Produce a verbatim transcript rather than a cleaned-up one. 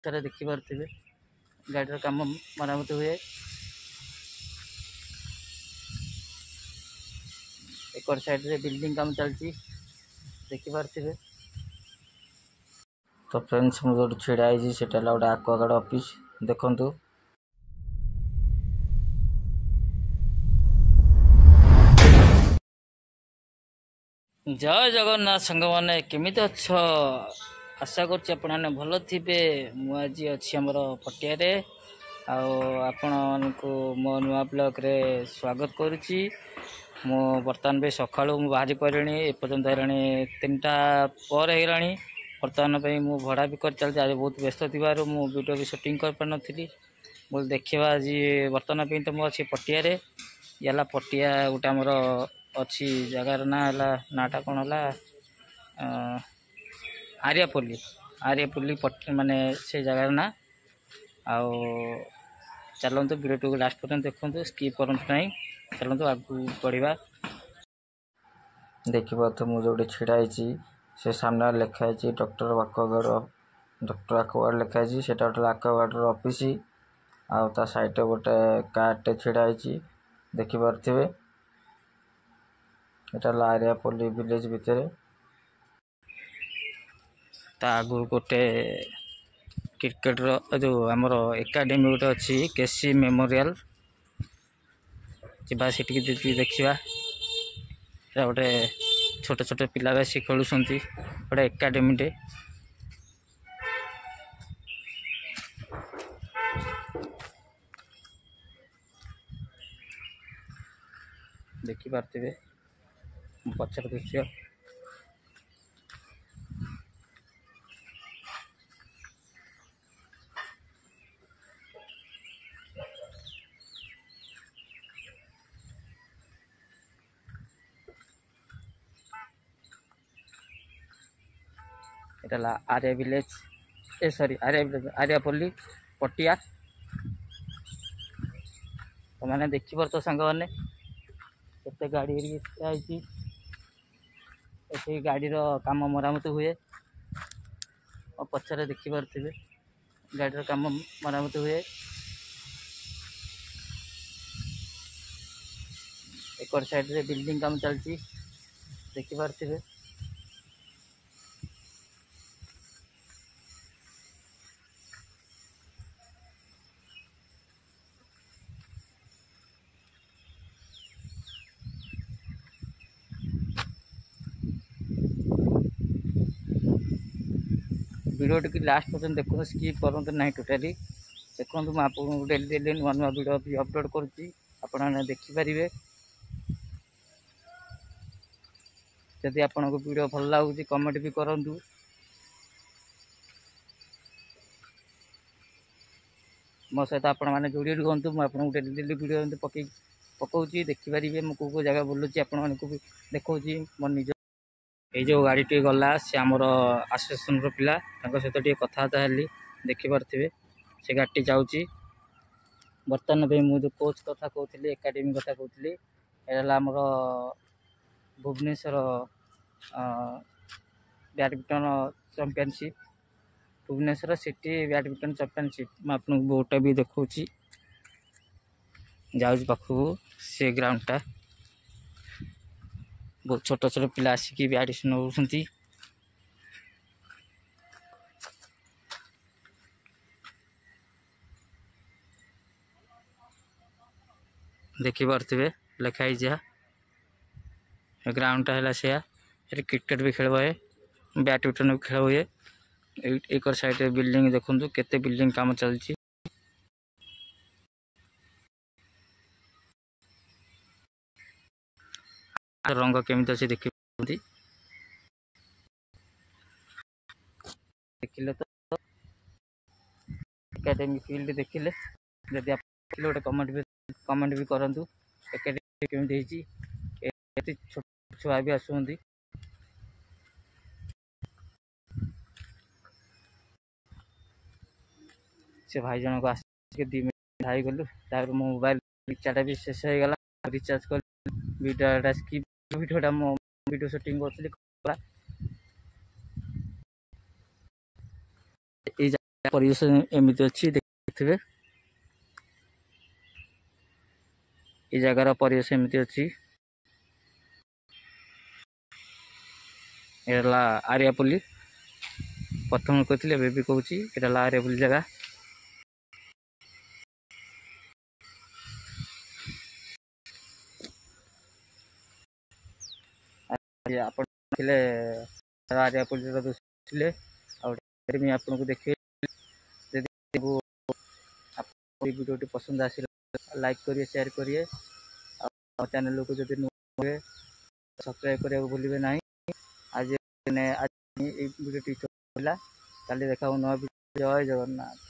ପଛରେ ଦେଖିପାରୁଥିବେ ଗାଡ଼ିର କାମ ମରାମତି ହୁଏ। ଏକର ସାଇଡ଼ରେ ବିଲ୍ଡିଂ କାମ ଚାଲିଛି, ଦେଖିପାରୁଥିବେ। ତ ଫ୍ରେଣ୍ଡସ୍, ମୁଁ ଯେଉଁଠି ଛିଡ଼ା ହେଇଛି ସେଇଟା ହେଲା ଗୋଟେ ଆକ୍ୱାଗାର୍ଡ଼ ଅଫିସ୍, ଦେଖନ୍ତୁ। ଜୟ ଜଗନ୍ନାଥ ସାଙ୍ଗମାନେ, କେମିତି ଅଛ? ଆଶା କରୁଛି ଆପଣମାନେ ଭଲ ଥିବେ। ମୁଁ ଆଜି ଅଛି ଆମର ପଟିଆରେ, ଆଉ ଆପଣମାନଙ୍କୁ ମୋ ନୂଆ ବ୍ଲଗ୍ରେ ସ୍ୱାଗତ କରୁଛି। ମୁଁ ବର୍ତ୍ତମାନ ବି ସକାଳୁ ମୁଁ ବାହାରି ପଡ଼ିଲିଣି, ଏପର୍ଯ୍ୟନ୍ତ ହେଲାଣି ତିନିଟା ପରେ ହେଇଗଲାଣି। ବର୍ତ୍ତମାନ ପାଇଁ ମୁଁ ଭଡ଼ା ବି କରି ଚାଲିଛି। ଆଜି ବହୁତ ବ୍ୟସ୍ତ ଥିବାରୁ ମୁଁ ଭିଡ଼ିଓ ବି ସୁଟିଂ କରିପାରିନଥିଲି। ମୁଁ ଦେଖିବା ଆଜି ବର୍ତ୍ତମାନ ପାଇଁ ତ ମୁଁ ଅଛି ପଟିଆରେ। ଇଏ ହେଲା ପଟିଆ, ଗୋଟେ ଆମର ଅଛି ଜାଗାର ନାଁ ହେଲା, ନାଁଟା କ'ଣ ହେଲା, ଆରିଆପଲ୍ଲୀ। ଆରିଆପଲ୍ଲୀ ମାନେ ସେ ଜାଗାର ନାଁ। ଆଉ ଚାଲନ୍ତୁ, ଭିଡ଼ିଓଟିକୁ ଲାଷ୍ଟ ପର୍ଯ୍ୟନ୍ତ ଦେଖନ୍ତୁ, ସ୍କିପ୍ କରନ୍ତୁ ନାହିଁ। ଚାଲନ୍ତୁ ଆଗକୁ ବଢ଼ିବା। ଦେଖିପାରୁଥିବେ, ମୁଁ ଯେଉଁଠି ଛିଡ଼ା ହେଇଛି ସେ ସାମ୍ନାରେ ଲେଖା ହେଇଛି ଡକ୍ଟର ଆକ୍ୱାଗାର୍ଡ଼, ଡକ୍ଟର ଆକ୍ୱାଗାର୍ଡ଼ ଲେଖା ହେଇଛି। ସେଇଟା ଗୋଟେ ଆକ୍ୱାଗାର୍ଡ଼ର ଅଫିସ୍, ଆଉ ତା ସାଇଡ଼୍ରେ ଗୋଟେ କାର୍ଟେ ଛିଡ଼ା ହେଇଛି, ଦେଖିପାରୁଥିବେ। ଏଇଟା ହେଲା ଆରିଆପଲ୍ଲୀ ଭିଲେଜ ଭିତରେ। ତା ଆଗକୁ ଗୋଟେ କ୍ରିକେଟର ଯେଉଁ ଆମର ଏକାଡେମୀ ଗୋଟେ ଅଛି, କେସି ମେମୋରିଆଲ। ଯିବା ସେଠିକି ଦେଖିବା। ଏଇଟା ଗୋଟେ ଛୋଟ ଛୋଟ ପିଲା ବି ଆସି ଖେଳୁଛନ୍ତି, ଗୋଟେ ଏକାଡେମୀଟେ। ଦେଖିପାରୁଥିବେ ପଛର ଦୃଶ୍ୟ। ଏଇଟା ହେଲା ଆର୍ୟା ଭିଲେଜ, ଏ ସରି, ଆର୍ୟା ଭିଲେଜ, ଆର୍ୟାପଲ୍ଲୀ ପଟିଆ। ତମାନେ ଦେଖିପାରୁଛ ସାଙ୍ଗମାନେ, କେତେ ଗାଡ଼ି ହେରିକି ହେଇଛି ଏଠି। ଗାଡ଼ିର କାମ ମରାମତି ହୁଏ। ଆଉ ପଛରେ ଦେଖିପାରୁଥିବେ ଗାଡ଼ିର କାମ ମରାମତି ହୁଏ। ଏକର ସାଇଡ଼ରେ ବିଲ୍ଡିଂ କାମ ଚାଲିଛି, ଦେଖିପାରୁଥିବେ। ଭିଡ଼ିଓଟିକୁ ଲାଷ୍ଟ ପର୍ଯ୍ୟନ୍ତ ଦେଖନ୍ତୁ, ସ୍କିପ୍ କରନ୍ତୁ ନାହିଁ ଟୋଟାଲି। ଦେଖନ୍ତୁ, ମୁଁ ଆପଣଙ୍କୁ ଡେଲି ଡେଲି ନୂଆ ନୂଆ ଭିଡ଼ିଓ ବି ଅପଲୋଡ଼ କରୁଛି, ଆପଣମାନେ ଦେଖିପାରିବେ। ଯଦି ଆପଣଙ୍କୁ ଭିଡ଼ିଓ ଭଲ ଲାଗୁଛି, କମେଣ୍ଟ ବି କରନ୍ତୁ। ମୋ ସହିତ ଆପଣମାନେ ଯୋଡ଼ି ରୁହନ୍ତୁ। ମୁଁ ଆପଣଙ୍କୁ ଡେଲି ଡେଲି ଭିଡ଼ିଓ ଏମିତି ପକେଇ ପକାଉଛି, ଦେଖିପାରିବେ। ମୁଁ କେଉଁ କେଉଁ ଜାଗା ବୁଲୁଛି ଆପଣମାନଙ୍କୁ ବି ଦେଖାଉଛି ମୋ ନିଜ। ଏଇ ଯେଉଁ ଗାଡ଼ିଟି ଗଲା, ସେ ଆମର ଆସୋସିଏସନର ପିଲା, ତାଙ୍କ ସହିତ ଟିକେ କଥାବାର୍ତ୍ତା ହେଲି। ଦେଖିପାରୁଥିବେ ସେ ଗାଡ଼ିଟି ଯାଉଛି। ବର୍ତ୍ତମାନ ପାଇଁ ମୁଁ ଯେଉଁ କୋଚ୍ କଥା କହୁଥିଲି, ଏକାଡେମୀ କଥା କହୁଥିଲି, ଏଇଟା ହେଲା ଆମର Bhubaneswar badminton championship, Bhubaneswar city badminton championship. ମୁଁ ଆପଣଙ୍କୁ ବୋର୍ଡ଼ଟା ବି ଦେଖାଉଛି। ଯାଉଛି ପାଖକୁ। ସେ ଗ୍ରାଉଣ୍ଡଟା ବହୁତ ଛୋଟ ଛୋଟ ପିଲା ଆସିକି ବି ଆଡ଼ିସନ୍ ହେଉଛନ୍ତି। ଦେଖିପାରୁଥିବେ ଲେଖା ହେଇଛି ଯାହା, ଗ୍ରାଉଣ୍ଡଟା ହେଲା ସେୟା। ଏଠି କ୍ରିକେଟ୍ ବି ଖେଳ ହୁଏ, ବ୍ୟାଡ଼ମିଣ୍ଟନ ବି ଖେଳ ହୁଏ। ଏକର ସାଇଡ଼ରେ ବିଲ୍ଡିଂ ଦେଖନ୍ତୁ, କେତେ ବିଲ୍ଡିଂ କାମ ଚାଲିଛି। ରଙ୍ଗ କେମିତି ଅଛି ଦେଖିଛନ୍ତି, ଦେଖିଲେ ତ ଏକାଡେମୀ ଫିଲ୍ଡ ଦେଖିଲେ। ଯଦି ଆପଣ ଗୋଟେ କମେଣ୍ଟ ବି କମେଣ୍ଟ ବି କରନ୍ତୁ, ଏକାଡେମୀ କେମିତି ହେଇଛି। ଏତେ ଛୋଟ ଛୁଆ ବି ଆସୁଛନ୍ତି। ସେ ଭାଇ ଜଣକ ଆସିକି ଦୁଇ ମିନିଟ୍ ହେଇଗଲୁ। ତାପରେ ମୋ ମୋବାଇଲ ରିଚାର୍ଜଟା ବି ଶେଷ ହେଇଗଲା, ରିଚାର୍ଜ କଲି। ଭିଡ଼ିଓଟା ସ୍କିପ୍, ଭିଡ଼ିଓଟା ମୁଁ ଭିଡ଼ିଓ ସୁଟିଂ କରୁଥିଲି। ଏଇ ପରିବେଶ ଏମିତି ଅଛି, ଦେଖିଥିବେ। ଏ ଜାଗାର ପରିବେଶ ଏମିତି ଅଛି। ଏ ହେଲା ଆରିଆପଲ୍ଲୀ। ପ୍ରଥମେ କହିଥିଲି, ଏବେ ବି କହୁଛି, ଏଇଟା ହେଲା ଆରିଆପଲ୍ଲୀ ଜାଗା। ଆପଣ ଥିଲେ ଆରିଆପଲ୍ଲୀର ଦୃଶ୍ୟ ଥିଲେ, ଆଉ ମୁଁ ଆପଣଙ୍କୁ ଦେଖିବି। ଯଦି ଆପଣ ଭିଡ଼ିଓଟି ପସନ୍ଦ ଆସିଲା, ଲାଇକ୍ କରିବେ, ସେୟାର କରିବେ, ଆଉ ଚ୍ୟାନେଲକୁ ଯଦି ନୂଆ ସବସ୍କ୍ରାଇବ୍ କରିବାକୁ ଭୁଲିବେ ନାହିଁ। ଆଜି ଆଜି ଏଇ ଭିଡ଼ିଓଟି ଥିଲା, କାଲି ଦେଖା ହେବ ନୂଆ ଭିଡ଼ିଓ। ଜୟ ଜଗନ୍ନାଥ।